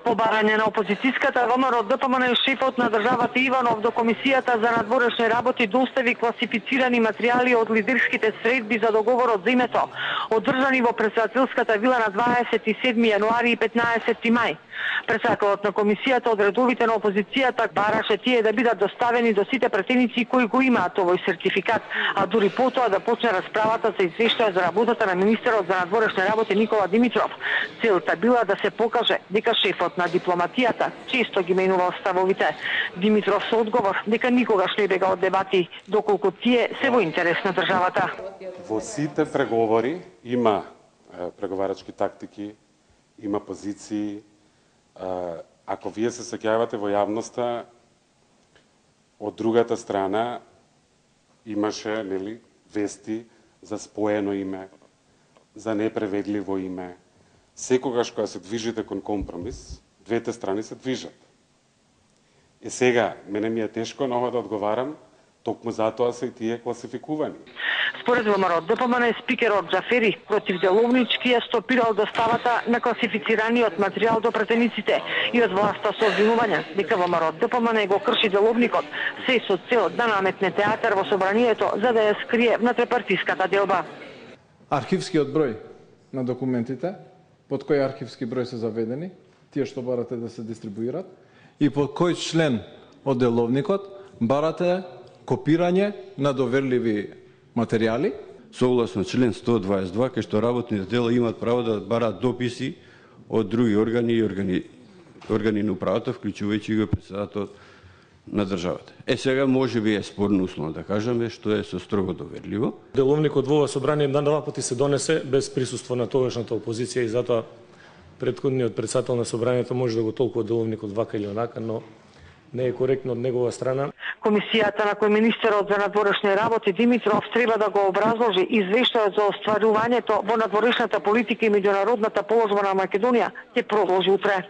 По барање на опозицијската ВМРО ДПМН шефот на државата Иванов до Комисијата за надворешни работи достави класифицирани материјали од лидерските средби за договорот за името, одржани во претседателската вила на 27 јануари и 15 мај. Председателот на комисијата од редовите на опозицијата бараше тие да бидат доставени до сите претеници кои го имаат овој сертификат, а дури потоа да почне расправата за извештај за работата на министерот за надворешни работи Никола Димитров. Целта била да се покаже дека шефот на дипломатијата често ги менувал ставовите. Димитров со одговор дека никогаш не бега од дебати, доколку тие се во интерес на државата. Во сите преговори има преговарачки тактики, има позиции. Ако вие се сеќавате во јавноста, од другата страна имаше вести за споено име, за непреведливо име. Секогаш кога се движите кон компромис, двете страни се движат. Сега, мене ми е тешко на ова да одговарам, токму затоа се и тие класификувани. Според ВМРО ДПМН спикерот Џафери противделовнички ја стопирал доставата на класифицираниот материјал до претениците и од власта со обвинувања дека ВМРО ДПМН го крши деловникот, се со цел да наметне театар во собранието за да ја скрие внатре-партиската делба. Архивскиот број на документите, под кој архивски број се заведени, тие што барате да се дистрибуират, и под кој член од деловникот барате копирање на доверливи материјали. Согласно член 122, кај што работните тела имаат право да бараат дописи од други органи и органи на управата, вклучувајќи го председателот на државата. Сега може би е спорно условно да кажеме што е со строго доверливо. Деловникот во ова собрание два пати се донесе без присуство на тогашната опозиција и затоа претходниот председател на собранието може да го толкува деловникот вака или онака, но не е коректно од негова страна. Комисијата на кој министерот за надворешни работи Димитров треба да го образложи извештајот за остварувањето во надворешната политика и меѓународната положба на Македонија ќе продолжи утре.